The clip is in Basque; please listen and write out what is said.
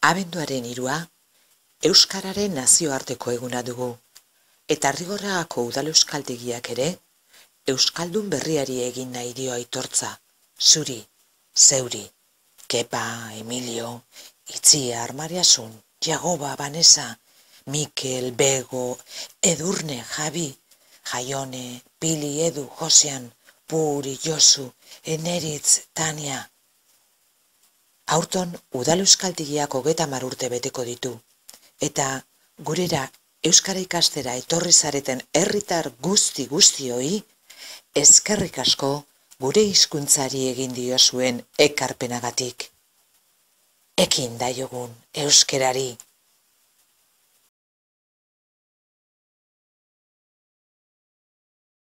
Abenduaren 3 Euskararen nazioarteko eguna dugu, eta Arrigorriagako udal euskaltegiak ere, Euskaldun berriari egin nahi dio aitortza, zuri, zeuri, Kepa, Emilio, Itziar, Mariasun, Jagoba, Vanessa, Mikel, Bego, Edurne, Javi, Jaione, Pili, Edu, Josean, Puri, Josu, Eneritz, Tania. Aurton, udal euskaltegiak 30 urte beteko ditu, eta gurera euskara ikastera etorri zareten herritar guzti-guztioi, eskerrik asko gure hizkuntzari egin diozuen ekarpenagatik. Ekin daiogun euskerari.